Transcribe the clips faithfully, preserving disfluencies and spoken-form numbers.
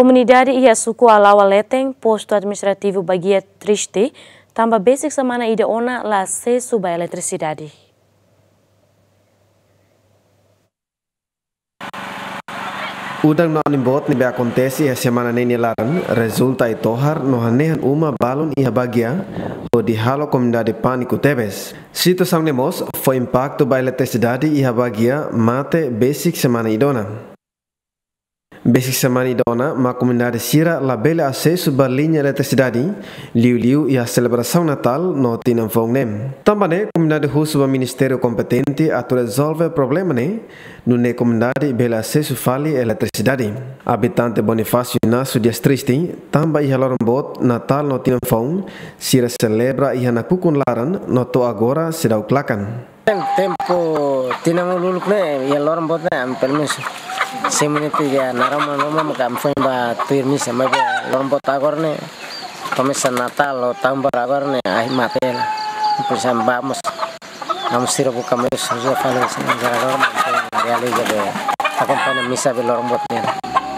Komunidade iha suku Alaua Leten, postu administrativu Baguia triste, tanba besik semana ida ona la asesu ba eletrisidade. Udan no anin boot ne'ebé akontese iha semana ne'e nia laran, rezulta ai-tohar no hanehan uma balun iha Baguia, hodi halo komunidade pániku tebes. Situasaun ne'e mós fó impaktu ba eletrisidade iha Baguia, mate besik semana ida ona. Besik semana ida ona mak komunidade sira labele asesu ba liña eletrisidade, liuliu iha selebrasaun Natál no tinan foun ne'e. Tanba ne'e, komunidade husu ba ministériu kompetente atu rezolve problema ne'e, nune'e komunidade bele asesu fali eletrisidade. Abitante Bonifácio Inácio Dias triste, tanba iha loron boot, Natál no tinan foun, sira selebra iha nakukun laran no to'o agora seidauk lakan. Tempu tinan uluk ne'e, iha loron boot ne'e, ami pelumenus simu ne'e tiga naroman roma maka ami foin ba tuir misa, maibé loron boot agora ne'e, komesa Natál ho Tahun Baru agora ne'e, ahi mate hela. Depois ami ba mós, ami sira buka meius sosiál fali, gara-gara ami foin realiza be akompaña misa be loron boot ne'e.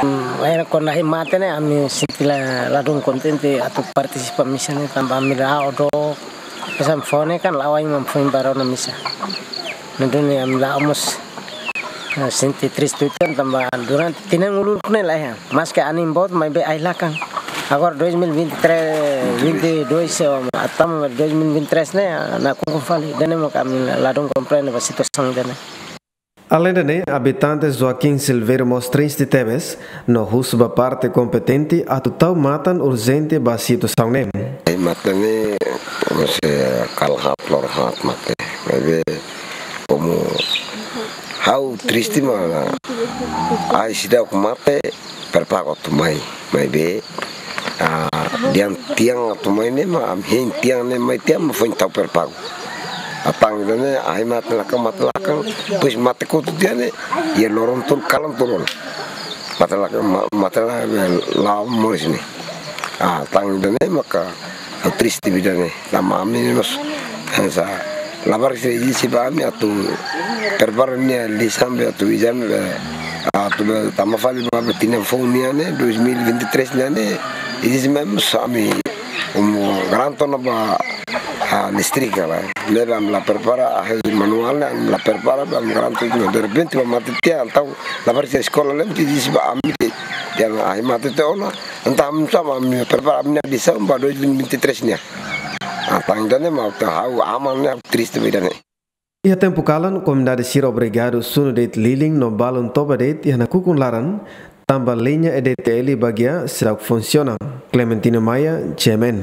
Hmm, era kuandu ahi mate ne'e, ami sente la, ladún kontente atu partisipa misa ne'e, tanba ami la'o dook. Pesan fone kan la'o ain mam foin ba rona misa. Nune'e ami la'o mós, eh, sente triste uitoan tanba durante tinan uluk ne'e laiha. Maske anin boot maibé ahi lakan. Agora dois mil e vinte e três, vinte e dois, eh, atam dois mil e vinte e três ne'e, nakukun fali. Ida-ne'e mak ami ladún komprende ba situasaun ida-ne'e. Alende ne'e, abitante Joaquim Silveiro mós triste tebes, no husu ba parte kompetente atu tau matan urjente ba situasaun ne'e. Ahi mate ne'e, komu se kala haat, loron haat mate. Maibé, komu ha'u triste mak, ahi seidauk mate, prepara atu mai. Maibé, ah, dehan tiang atu mai ne'e mak, ami hein tiang ne'e mai tiang mak foin tau prepara. Entaun ida-ne'e, ahi mate lakan, mate lakan, depois mate kotuk tiha ne'e, iha loron tolu, kalan tolu. Mate lakan, ma-, mate la, la moris ne'e. Ah, entaun ida-ne'e maka, ha'u triste ba ida-ne'e. Tanba ami mós, hanesan, labarik sira ezije ba ami atu prepara nia lisaun be atu ezame be, atu be tama fali ba be tinan foun nian ne'e, dois mil e vinte e três nian ne'e, ezije mai mós ami, komu garantu ona ba, ah, listrik ka lae. Ne'ebé ami la prepara, ahi manuál ne'e, ami la prepara, be ami garantu ona. Derrepente ba mate tiha, entaun, labarik sira eskola lem, ezije ba ami de'it, dehan ahi mate tiha ona, entaun ami sama, ami prepara, ami-nia lisaun ba dois mil e vinte e três nian. Entaun ida-ne'e mak ha'u aman ne'e, ha'u triste ba ida-ne'e. Iha tempu kalan, komunidade sira obrigadu sunu de'it lilin no balun toba de'it iha nakukun laran, tanba liña E D T L Baguia seidauk funsiona. Clementino Maia, G M N.